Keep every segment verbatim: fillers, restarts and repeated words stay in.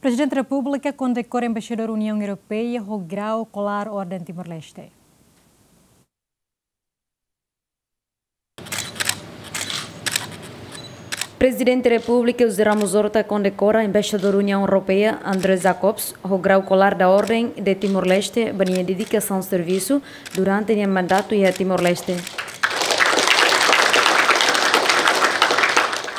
Prezidente Repúblika kondekora Embaixadór Uniaun Europeia ho grau kolar Orden Timor-Leste. Prezidente Repúblika José Ramos Horta kondekora Embaixadór Uniaun Europeia André Jacobs ho grau kolar da Orden de Timor-Leste ba nia dedikasaun servisu durante nia mandatu iha Timor-Leste.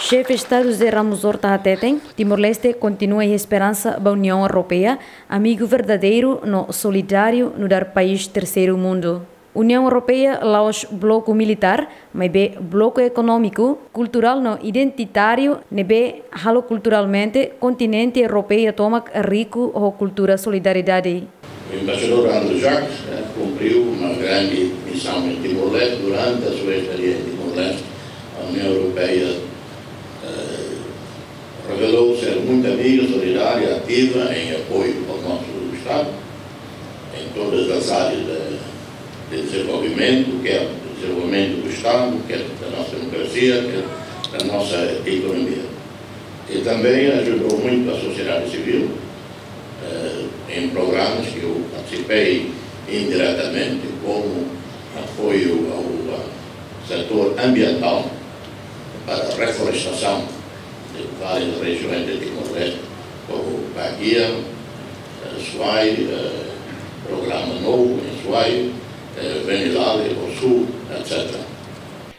Xefe Estadu José Ramos Horta hateten, Timor-Leste kontinua iha esperansa ba Uniaun Europeia, amigu verdadeiru no solidáriu nu'udar país terseiru mundu. Uniaun Europeia la'ós bloku militár, maibé bloku ekonómiku, kulturál no identitáriu, ne'ebé halo kulturalmente kontinente Europeia tomak riku ho kultura solidariedade. O embaixador Andrew Jacques, eh, cumpriu uma grande missão em Timor-Leste. Durante a sua estadia em Timor-Leste, a União Europeia, eh, revelou ser muito amiga, solidária, ativa em apoio ao nosso Estado, em todas as áreas de, de desenvolvimento, quer desenvolvimento do Estado, quer da nossa democracia, quer da nossa economia. E também ajudou muito a sociedade civil, eh, em programas que eu participei indiretamente, como apoio ao, ah, setor ambiental para a reflorestação de várias regiões de Timor-Leste, como Baguia, eh, Suai, eh, programa novo em Suai, eh, Venilale, Ossú, etcétera.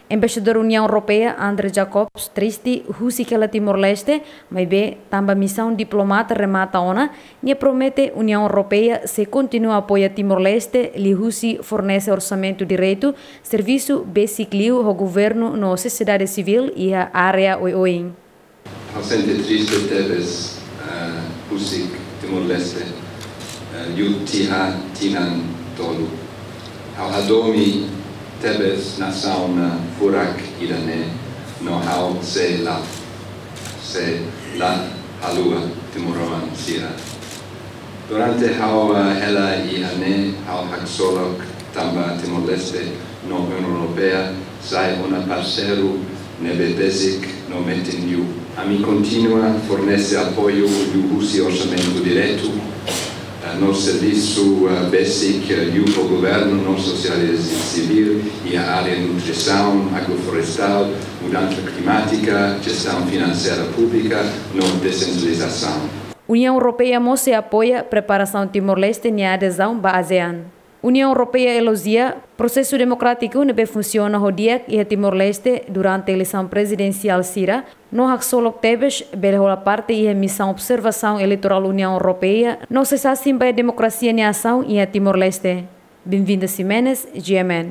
Embaixadór Uniaun Europeia André Jacobs triste husik hela Timor-Leste, maibé tanba misaun diplomata remata ona, nia promete Uniaun Europeia sei kontinua apoia Timor-Leste liuhusi fornese orsamentu diretu, servisu besik liu ho governu no sosiedade sivíl iha área oioin. Ha'u sente triste tebes, eh, husik Timor-Leste, eh, liu tiha tinan tolu. Ha'u hadomi tebes nasaun, eh, furak ida-ne'e, no ha'u sei la, sei la haluha timoroan sira. Durante ha'u, eh, hela iha ne'e, ha'u haksolok tanba Timor-Leste no Uniaun Europeia sai ona parseiru ne'ebé besik no metin liu. Ami kontinua fornese apoiu liuhusi orsamentu diretu, eh, no servisu, eh, besik, eh, liu ho governu no sosiedade sivíl iha área nutrisaun, agroflorestál, mudansa klimátika, jestaun finanseira públika no desentralizasaun. Uniaun Europeia mós sei apoia preparasaun Timor-Leste nia adezaun ba ASEAN. Uniaun Europeia elojia prosesu demokrátiku ne'ebé funsiona ho di'ak iha Timor-Leste durante eleisaun prezidensiál sira, no haksolok tebes bele hola parte iha misaun observasaun eleitorál Uniaun Europeia, no sei sasin ba demokrasia nia asaun iha Timor-Leste. Benvinda Ximenes, G M N.